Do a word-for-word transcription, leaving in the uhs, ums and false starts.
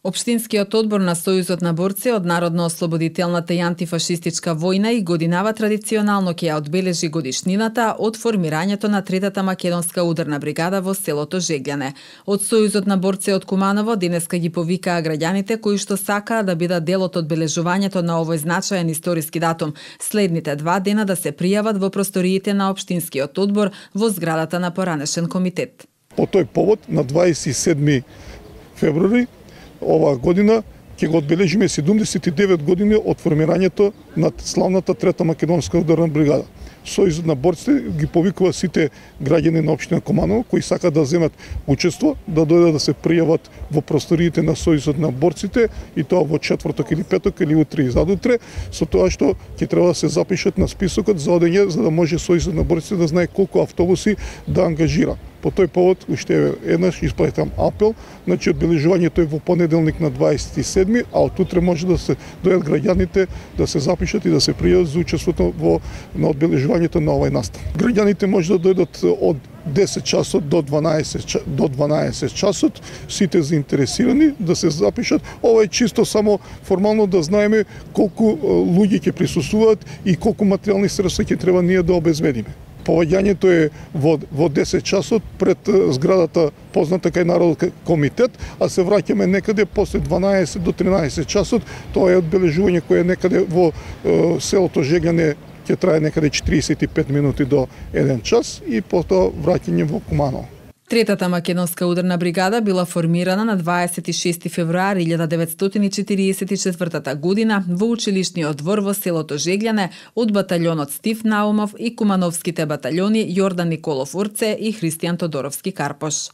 Општинскиот одбор на Сојузот на борци од Народно-ослободителната и антифашистичка војна и годинава традиционално ќе ја одбележи годишнината од формирањето на третата македонска ударна бригада во селото Жегляне. Од Сојузот на борци од Куманово денеска ги повикаа граѓаните кои што сакаа да бидат дел од одбележувањето на овој значаен историски датум, следните два дена да се пријават во просториите на општинскиот одбор во зградата на поранешен комитет. По тој повод на дваесет и седми февруари оваа година ќе го одбележиме седумдесет и девет години од формирањето на славната трета македонска ударна бригада. Сојузот на борците ги повикува сите граѓани на општина Куманово кои сакаат да земат учество, да дојдат да се пријават во просториите на Сојузот на борците и тоа во четврток или петок или утре и задутре, со тоа што ќе треба да се запишат на списокот за одење за да може Сојузот на борците да знае колку автобуси да ангажира. По тој повод уште еднаш испратам апел, значи одбележувањето е во понеделник на дваесет и седми, а од утре може да се дојдат граѓаните да се запишат и да се пријават за учеството во на одбележувањето на овој настан. Граѓаните може да дојдат од десет часот до дванаесет до дванаесет часот, сите заинтересирани да се запишат. Ова е чисто само формално да знаеме колку луѓе ќе присуствуваат и колку материјални средства ќе треба ние да обезбедиме. Поваѓањето е во, во десет часот пред зградата позната кај Народен комитет, а се враќаме некаде после дванаесет до тринаесет часот. Тоа е одбележување кое е некаде во е, селото Жегляне ќе трае некаде четириесет и пет минути до еден час и потоа враќање во Куманово. Третата македонска ударна бригада била формирана на дваесет и шести февруари илјада деветстотини четириесет и четвртата година во училишниот двор во селото Жегляне од баталјонот Стив Наумов и кумановските баталјони Јордан Николов Урце и Христијан Тодоровски Карпош.